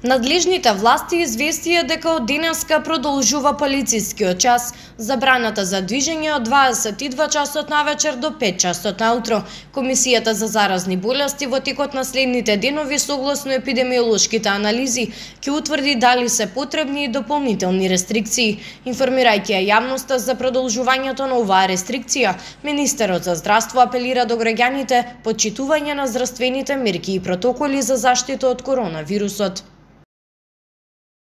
Надлежните власти известија дека од денеска продолжува полицискиот час, забраната за движење од 22 часот навечер до 5 часот наутро. Комисијата за заразни болести во текот на следните денови согласно епидемиолошките анализи ќе утврди дали се потребни и дополнителни рестрикции. Информирајќи ја јавноста за продолжувањето на оваа рестрикција, министерот за здравство апелира до граѓаните почитување на здравствените мерки и протоколи за заштита од коронавирусот.